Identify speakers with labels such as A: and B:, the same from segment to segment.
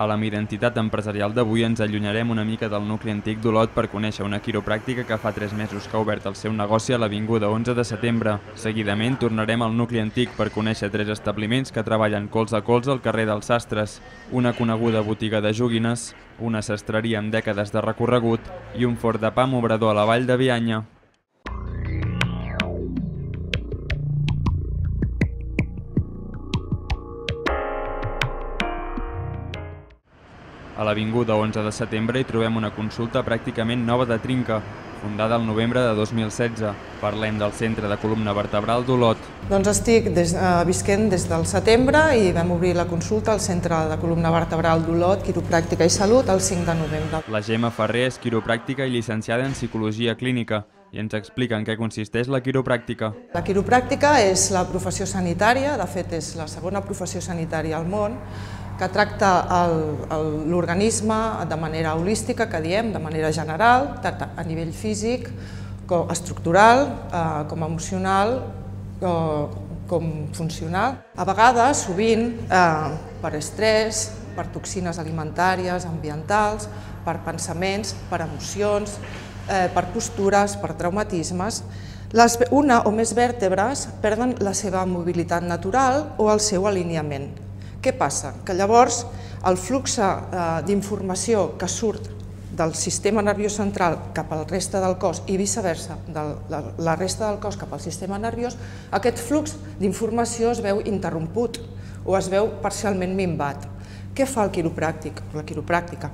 A: A la Identitat Empresarial d'avui ens allunyarem una mica del nucli antic d'Olot per conèixer una quiropràctica que fa 3 mesos que ha obert el seu negoci a l'Avinguda 11 de setembre. Seguidament tornarem al nucli antic per conèixer 3 establiments que treballen colze a colze al carrer dels Sastres, una coneguda botiga de joguines, una sastreria amb dècades de recorregut i un forn de pa amb obrador a la vall de Bianya. A l'Avinguda 11 de setembre hi trobem una consulta pràcticament nova de trinca, fundada al novembre de 2016. Parlem del Centre de Columna Vertebral d'Olot.
B: Doncs estic visquent des del setembre i vam obrir la consulta al Centre de Columna Vertebral d'Olot, Quiropràctica i Salut, el 5 de novembre.
A: La Gemma Ferrer és quiropràctica i llicenciada en Psicologia Clínica i ens explica en què consisteix la quiropràctica.
B: La quiropràctica és la professió sanitària, de fet és la segona professió sanitària al món, que tracta l'organisme de manera holística, que diem, de manera general, tant a nivell físic, com estructural, com emocional, com funcional. A vegades, sovint, per estrès, per toxines alimentàries, ambientals, per pensaments, per emocions, per postures, per traumatismes, una o més vèrtebres perden la seva mobilitat natural o el seu alineament. Què passa? Que llavors el flux d'informació que surt del sistema nerviós central cap al resta del cos i viceversa, de la resta del cos cap al sistema nerviós, aquest flux d'informació es veu interromput o es veu parcialment minvat. Què fa el quiropràctic, la quiropràctica?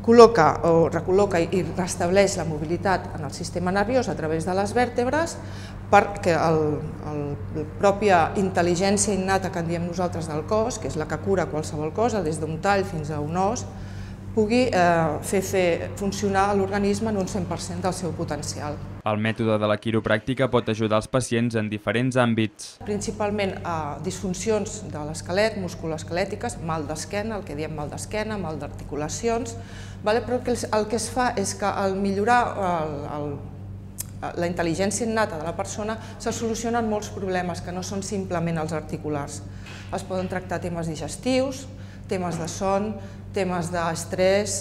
B: Col·loca o recol·loca i restableix la mobilitat en el sistema nerviós a través de les vèrtebres perquè la pròpia intel·ligència innata que en diem nosaltres del cos, que és la que cura qualsevol cosa, des d'un tall fins a un os, pugui fer funcionar l'organisme en un 100% del seu potencial.
A: El mètode de la quiropràctica pot ajudar els pacients en diferents àmbits.
B: Principalment a disfuncions de l'esquelet, musculoesquelètiques, mal d'esquena, el que diem mal d'esquena, mal d'articulacions, però el que es fa és que al millorar la intel·ligència innata de la persona se solucionen molts problemes que no són simplement els articulars. Es poden tractar temes digestius, temes de son, temes d'estrès,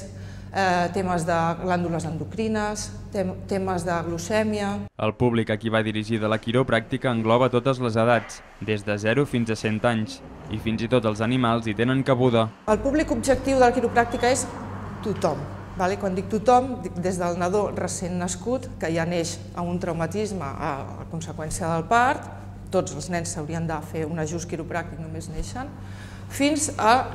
B: temes de glàndules endocrines, temes de glucèmia.
A: El públic a qui va dirigida la quiropràctica engloba totes les edats, des de 0 fins a 100 anys, i fins i tot els animals hi tenen cabuda.
B: El públic objectiu de la quiropràctica és tothom. Quan dic tothom, dic des del nadó recent nascut, que ja neix amb un traumatisme a conseqüència del part, tots els nens s'haurien de fer un ajust quiropràctic només neixen, fins a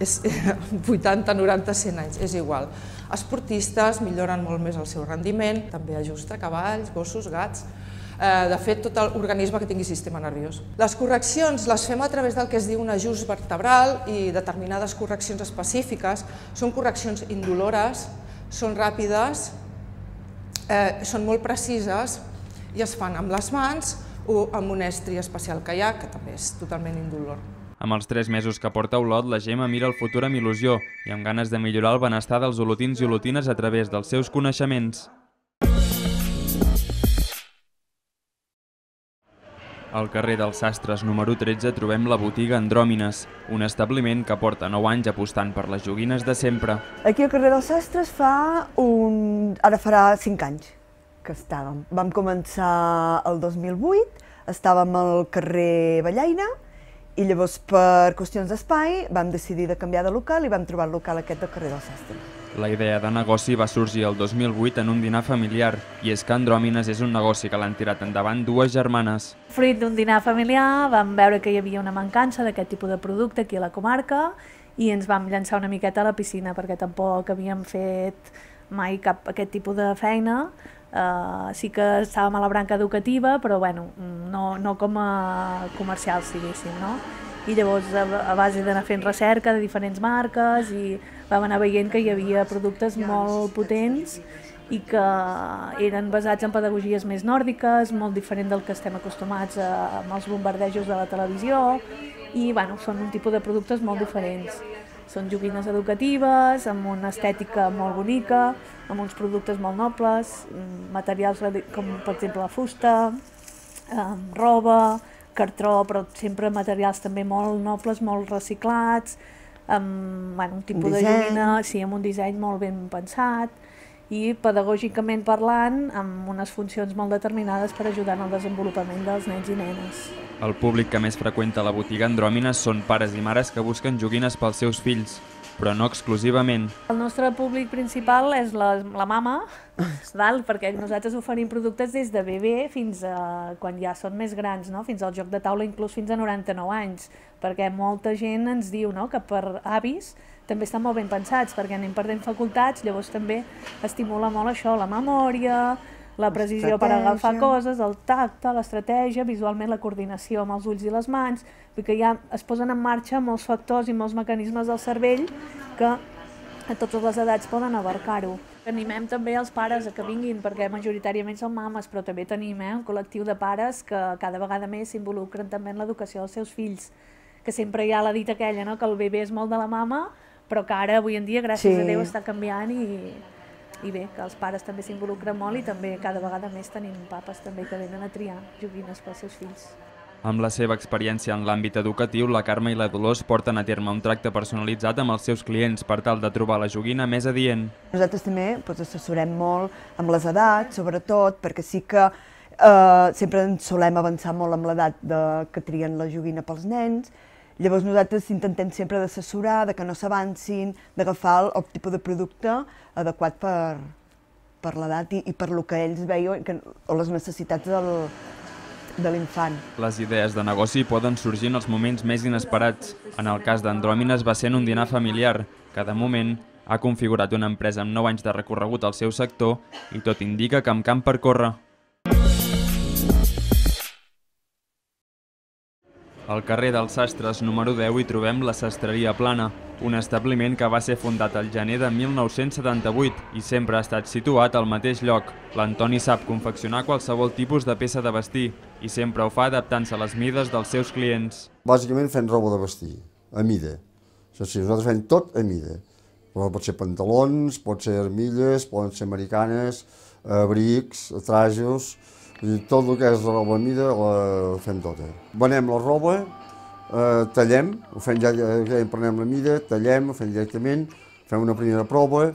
B: 80, 90, 100 anys, és igual. Esportistes milloren molt més el seu rendiment, també ajusta cavalls, gossos, gats, de fet tot l'organisme que tingui sistema nerviós. Les correccions les fem a través del que es diu un ajust vertebral i determinades correccions específiques. Són correccions indolores, són ràpides, són molt precises i es fan amb les mans o amb un estri especial que hi ha, que també és totalment indolor.
A: Amb els 3 mesos que porta a Olot, la Gemma mira el futur amb il·lusió i amb ganes de millorar el benestar dels olotins i olotines a través dels seus coneixements. Al carrer dels Sastres número 13 trobem la botiga Andròmines, un establiment que porta 9 anys apostant per les joguines de sempre.
C: Aquí al carrer dels Sastres ara farà 5 anys que estàvem. Vam començar el 2008, estàvem al carrer Ballaina i llavors per qüestions d'espai vam decidir de canviar de local i vam trobar el local aquest del carrer dels Sastres.
A: La idea de negoci va sorgir el 2008 en un dinar familiar, i és que Andròmines és un negoci que l'han tirat endavant 2 germanes.
D: Fruit d'un dinar familiar vam veure que hi havia una mancança d'aquest tipus de producte aquí a la comarca i ens vam llançar una miqueta a la piscina perquè tampoc havíem fet mai cap aquest tipus de feina. Sí que estàvem a la branca educativa, però bueno, no com a comercials, diguéssim, no? I llavors a base d'anar fent recerca de diferents marques i vam anar veient que hi havia productes molt potents i que eren basats en pedagogies més nòrdiques, molt diferent del que estem acostumats amb els bombardejos de la televisió i bueno, són un tipus de productes molt diferents. Són joguines educatives, amb una estètica molt bonica, amb uns productes molt nobles, materials com per exemple la fusta, roba, cartró, però sempre materials també molt nobles, molt reciclats, amb un tipus de joguina, sí, amb un disseny molt ben pensat i pedagògicament parlant, amb unes funcions molt determinades per ajudar en el desenvolupament dels nens i nenes.
A: El públic que més freqüenta la botiga Andròmines són pares i mares que busquen joguines pels seus fills, però no exclusivament.
D: El nostre públic principal és la mama, perquè nosaltres oferim productes des de bebè fins a quan ja són més grans, fins al joc de taula, inclús fins a 99 anys, perquè molta gent ens diu que per avis també estan molt ben pensats, perquè anem perdent facultats, llavors també estimula molt això, la memòria, la precisió per agafar coses, el tacte, l'estratègia, visualment la coordinació amb els ulls i les mans, perquè ja es posen en marxa molts factors i molts mecanismes del cervell que a totes les edats poden abarcar-ho. Animem també els pares a que vinguin, perquè majoritàriament són mames, però també tenim un col·lectiu de pares que cada vegada més s'involucren també en l'educació dels seus fills, que sempre hi ha la dita aquella, que el bebè és molt de la mama, però que ara, avui en dia, gràcies a Déu, està canviant i bé, que els pares també s'involucren molt i també cada vegada més tenim papes també que venen a triar joguines pels seus fills.
A: Amb la seva experiència en l'àmbit educatiu, la Carme i la Dolors porten a terme un tracte personalitzat amb els seus clients per tal de trobar la joguina més adient.
C: Nosaltres també assessorem molt amb les edats, sobretot, perquè sí que sempre ens solem avançar molt amb l'edat que trien la joguina pels nens. Llavors nosaltres intentem sempre d'assessorar, que no s'avancin, d'agafar el tipus de producte adequat per l'edat i per el que ells veien o les necessitats de l'infant.
A: Les idees de negoci poden sorgir en els moments més inesperats. En el cas d'Andròmines va ser en un dinar familiar, que de moment ha configurat una empresa amb 9 anys de recorregut al seu sector i tot indica que amb camp per córrer. Al carrer dels Sastres número 10 hi trobem la Sastreria Plana, un establiment que va ser fundat al gener de 1978 i sempre ha estat situat al mateix lloc. L'Antoni sap confeccionar qualsevol tipus de peça de vestir i sempre ho fa adaptant-se a les mides dels seus clients.
E: Bàsicament fem roba de vestir, a mida. Això sí, nosaltres fem tot a mida. Pot ser pantalons, pot ser armilles, poden ser americanes, abrics, trajos. Tot el que és la roba a mida la fem tota. Venem la roba, tallem, prenem la mida, tallem, ho fem directament, fem una primera prova,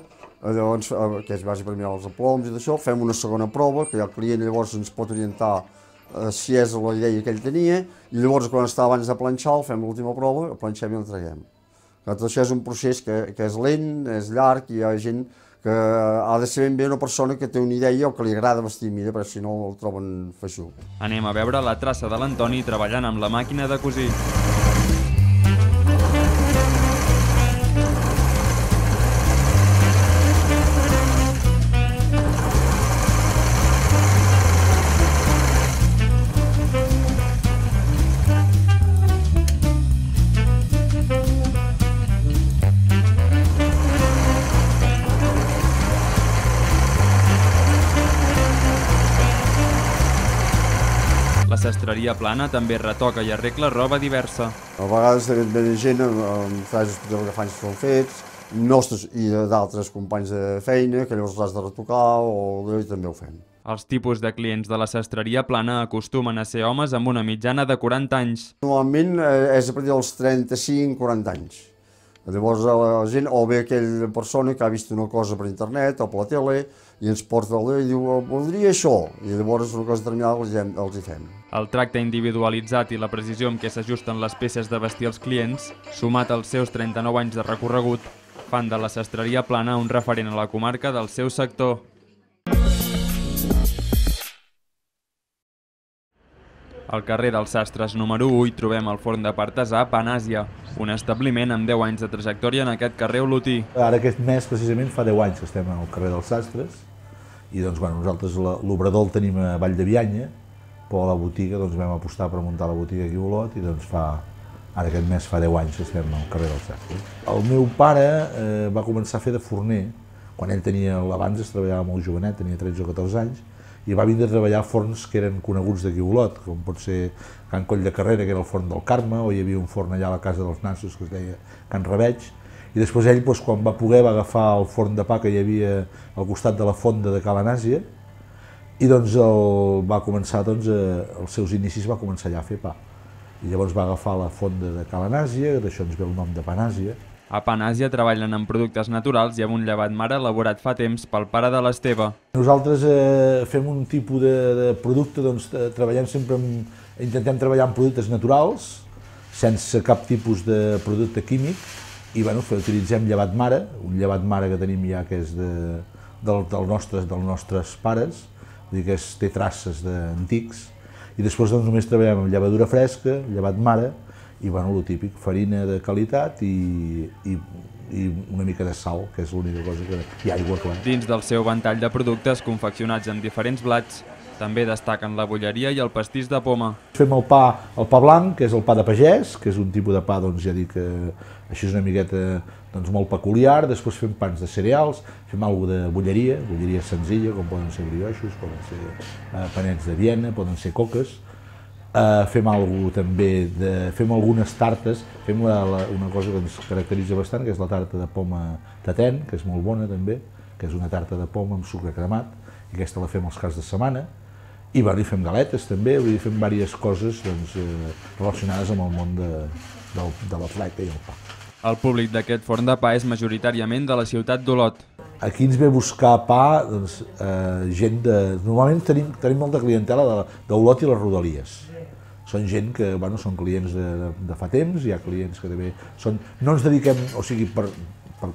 E: llavors, que és bàsic per mirar els aploms i d'això, fem una segona prova, que el client llavors ens pot orientar si és la idea que ell tenia, i llavors quan està abans de planxar, fem l'última prova, el planxem i l'entreguem. Tot això és un procés que és lent, és llarg, i hi ha gent que ha de ser ben bé una persona que té una idea o que li agrada vestir a mida, perquè si no el troben feixuc.
A: Anem a veure la traça de l'Antoni treballant amb la màquina de cosir. La Sastreria Plana també retoca i arregla roba diversa.
E: A vegades ve gent amb trajes que fan són fets, nostres i d'altres companys de feina, que llavors els has de retocar o també ho fem.
A: Els tipus de clients de la Sastreria Plana acostumen a ser homes amb una mitjana de 40 anys.
E: Normalment és a partir dels 35-40 anys. Llavors la gent o ve aquella persona que ha vist una cosa per internet o per la tele i ens porta i diu voldria això, i llavors una cosa determinada els hi fem.
A: El tracte individualitzat i la precisió amb què s'ajusten les peces de vestir als clients, sumat als seus 39 anys de recorregut, fan de la Sastreria Plana un referent a la comarca del seu sector. Al carrer dels Sastres número 1 hi trobem el forn de artesà Panàsia, un establiment amb 10 anys de trajectòria en aquest carrer olotí.
F: Ara aquest mes, precisament, fa 10 anys que estem al carrer dels Sastres i nosaltres l'obrador el tenim a Vall de Bianya, però la botiga vam apostar per muntar la botiga aquí a Olot i ara aquest mes fa 10 anys que estem al carrer dels Sastres. El meu pare va començar a fer de forner, quan ell abans treballava molt jovenet, tenia 13 o 14 anys, i va vindre a treballar a forns que eren coneguts d'aquí a Olot, com pot ser Can Coll de Carrera, que era el forn del Carme, o hi havia un forn allà a la casa dels Nassos que es deia Can Rabeig, i després ell, quan va poder, va agafar el forn de pa que hi havia al costat de la fonda de Cala Nàsia, i va començar, els seus inicis va començar allà a fer pa. I llavors va agafar la fonda de Cala Nàsia, d'això ens ve el nom de Panàsia.
A: A Pan Àsia treballen amb productes naturals i amb un llevat mare elaborat fa temps pel pare de l'Esteve.
F: Nosaltres fem un tipus de producte, doncs treballem sempre intentem treballar amb productes naturals, sense cap tipus de producte químic, i utilitzem llevat mare, un llevat mare que tenim ja que és dels nostres pares, vull dir que té traces d'antics, i després només treballem amb llevadura fresca, llevat mare, i el típic, farina de qualitat i una mica de sal, que és l'única cosa que... i aigua, clar.
A: Dins del seu ventall de productes confeccionats amb diferents blats, també destaquen la bolleria i el pastís de poma.
F: Fem el pa blanc, que és el pa de pagès, que és un tipus de pa, doncs ja dic, així és una miqueta molt peculiar. Després fem pans de cereals, fem alguna de bolleria senzilla, com poden ser brioixos, poden ser panets de Viena, poden ser coques. Fem algunes tartes, fem una cosa que ens caracteritza bastant, que és la tarta de poma Taten, que és molt bona també, que és una tarta de poma amb sucre cremat, i aquesta la fem els caps de setmana. I fem galetes també, fem diverses coses relacionades amb el món de la fleca i el pa.
A: El públic d'aquest forn de pa és majoritàriament de la ciutat d'Olot.
F: Aquí ens ve a buscar pa gent de... Normalment tenim molta clientela d'Olot i les rodalies. Són gent que són clients de fa temps, hi ha clients que també són... No ens dediquem, o sigui, per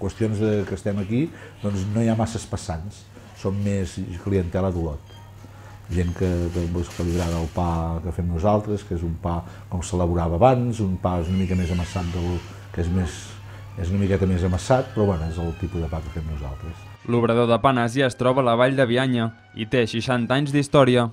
F: qüestions que estem aquí, doncs no hi ha masses passants, són més clientela d'Olot. Gent que li agrada el pa que fem nosaltres, que és un pa com s'elaborava abans, un pa una mica més amassat, que és una miqueta més amassat, però és el tipus de pa que fem nosaltres.
A: L'obrador de Pan Àsia es troba a la vall de Bianya i té 60 anys d'història.